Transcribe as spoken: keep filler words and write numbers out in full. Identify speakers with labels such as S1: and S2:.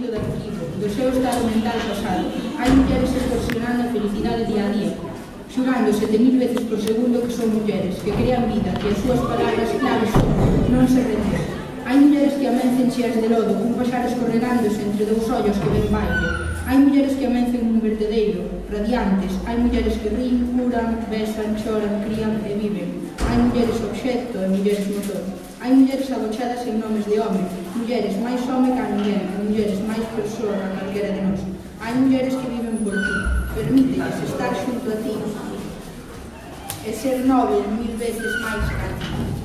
S1: do arquivo, do seu estado mental pasado. Hai mulleres extorsionando a felicidade día a día, xurando sete mil veces por segundo que son mulleres, que crean vida, que as súas palabras claves son non se render. Hai mulleres que amencen cheas de lodo, cun pasar escorregándose entre dous ollos que ven baile. Hai mulleres que amencen un vertedeiro, radiantes. Hai mulleres que rín, curan, besan, choran, crían e viven. Hai mulleres obxecto e mulleres motor. Hai mulleres agochadas en nomes de home, mulleres máis home que a ninguén, e mulleres máis persoa que a calquera de nós. Hai mulleres que viven por ti, permítelles estar xunto a ti e ser noble mil veces máis que a ti.